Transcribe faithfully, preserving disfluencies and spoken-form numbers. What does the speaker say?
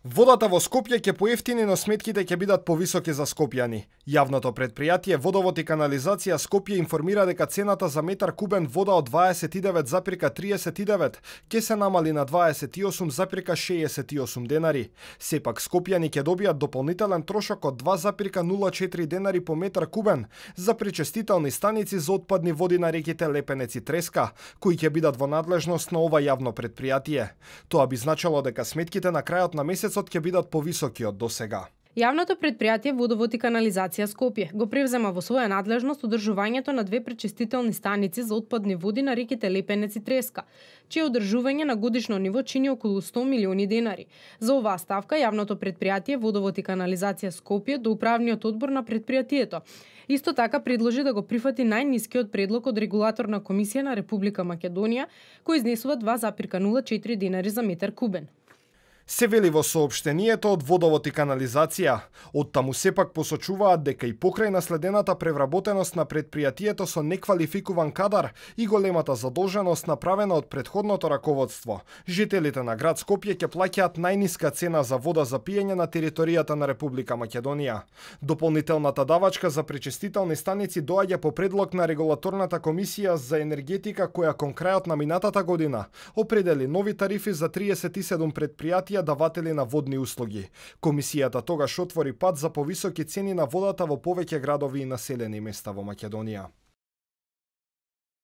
Водата во Скопје ќе поевтини, но сметките ќе бидат повисоки за скопјани. Јавното предпријатие Водовод и канализација Скопје информира дека цената за метар кубен вода од дваесет и девет зарем триесет и девет ќе се намали на дваесет и осум зарем шеесет и осум денари. Сепак скопјани ќе добијат дополнителен трошок од два зарем нула четири денари по метар кубен за пречистителни станици за отпадни води на реките Лепенец и Треска, кои ќе бидат во надлежност на ова јавно предпријатие. Тоа би значило дека сметките на крајот на месецот ќе бидат повисоки од досега. Јавното предпријатие Водовод и канализација Скопје го превзема во своја надлежност одржувањето на две пречистителни станици за отпадни води на реките Лепенец и Треска, чие одржување на годишно ниво чини околу сто милиони денари. За оваа ставка јавното предпријатие Водовод и канализација Скопје до управниот одбор на предпријатието исто така предложи да го прифати најнискиот предлог од регулаторна комисија на Република Македонија, кој изнесува два зарем нула четири денари за метар кубен. Се вели во соопштенијето од Водовод и канализација. Од таму сепак посочуваат дека и покрај наследената превработеност на предпријатието со неквалификуван кадар и големата задолженост направена од претходното раководство, жителите на град Скопје ќе плаќаат најниска цена за вода за пиење на територијата на Република Македонија. Дополнителната давачка за пречистителни станици доаѓа по предлог на регулаторната комисија за енергетика, која кон крајот на минатата година определи нови тарифи за триесет и седум предпријатија даватели на водни услуги. Комисијата тогаш отвори пат за повисоки цени на водата во повеќе градови и населени места во Македонија.